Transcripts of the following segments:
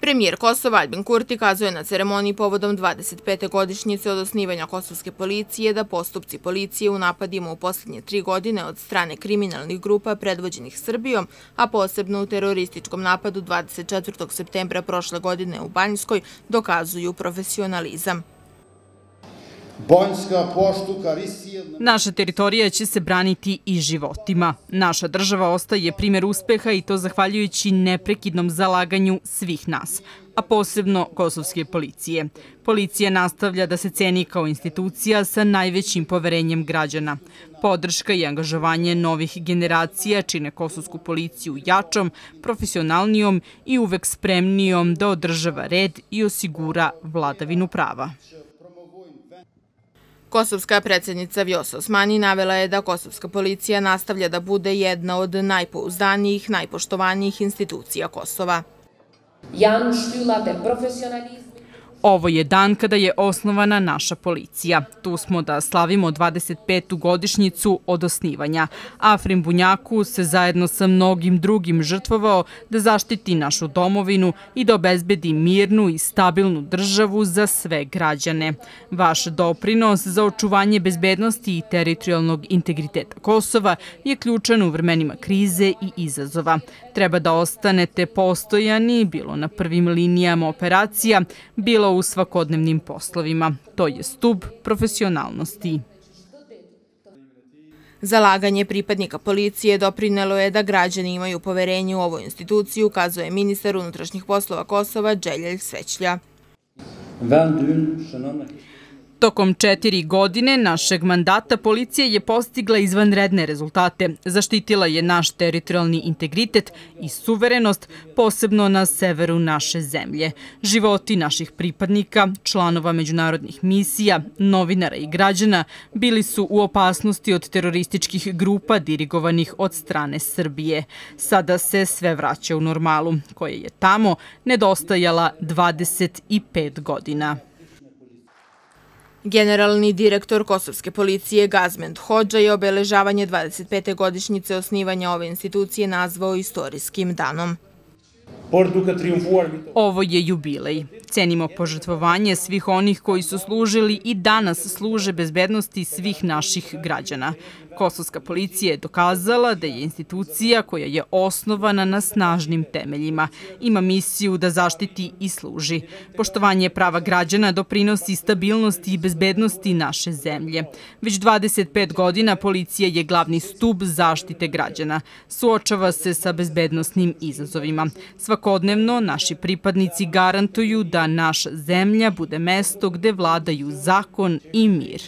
Premijer Kosova Aljbin Kurti kazuje na ceremoniji povodom 25. godišnjice od osnivanja kosovske policije da postupci policije u napadima u posljednje 3 godine od strane kriminalnih grupa predvođenih Srbijom, a posebno u terorističkom napadu 24. septembra prošle godine u Banjskoj, dokazuju profesionalizam. Naša teritorija će se braniti i životima. Naša država ostaje primjer uspeha i to zahvaljujući neprekidnom zalaganju svih nas, a posebno kosovske policije. Policija nastavlja da se ceni kao institucija sa najvećim poverenjem građana. Podrška i angažovanje novih generacija čine kosovsku policiju jačom, profesionalnijom i uvek spremnijom da održava red i osigura vladavinu prava. Kosovska predsjednica Vjosa Osmani navela je da kosovska policija nastavlja da bude jedna od najpouzdanijih, najpoštovanijih institucija Kosova. Ovo je dan kada je osnovana naša policija. Tu smo da slavimo 25. godišnjicu od osnivanja. Afrim Bunjaku se zajedno sa mnogim drugim žrtvovao da zaštiti našu domovinu i da obezbedi mirnu i stabilnu državu za sve građane. Vaš doprinos za očuvanje bezbednosti i teritorijalnog integriteta Kosova je ključan u vremenima krize i izazova. Treba da ostanete postojani, bilo na prvim linijama operacija, bilo u svakodnevnim poslovima. To je stub profesionalnosti. Zalaganje pripadnika policije doprinelo je da građani imaju poverenje u ovu instituciju, kazuje ministar unutrašnjih poslova Kosova Dželjel Svećlja. Tokom 4 godine našeg mandata policija je postigla izvanredne rezultate. Zaštitila je naš teritorijalni integritet i suverenost, posebno na severu naše zemlje. Životi naših pripadnika, članova međunarodnih misija, novinara i građana bili su u opasnosti od terorističkih grupa dirigovanih od strane Srbije. Sada se sve vraća u normalu, koja je tamo nedostajala 25 godina. Generalni direktor kosovske policije Gazmend Hodža je obeležavanje 25. godišnjice osnivanja ove institucije nazvao istorijskim danom. Ovo je jubilej. Cenimo požrtvovanje svih onih koji su služili i danas služe bezbednosti svih naših građana. Kosovska policija je dokazala da je institucija koja je osnovana na snažnim temeljima. Ima misiju da zaštiti i služi. Poštovanje prava građana doprinosi stabilnosti i bezbednosti naše zemlje. Već 25 godina policija je glavni stub zaštite građana. Suočava se sa bezbednosnim izazovima. Svakodnevno naši pripadnici garantuju da naša zemlja bude mesto gde vladaju zakon i mir.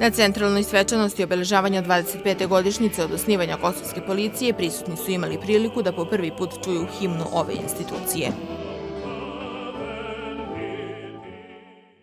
Na centralnoj svečanosti obeležavanja 25. godišnjice od osnivanja kosovske policije prisutni su imali priliku da po prvi put čuju himnu ove institucije.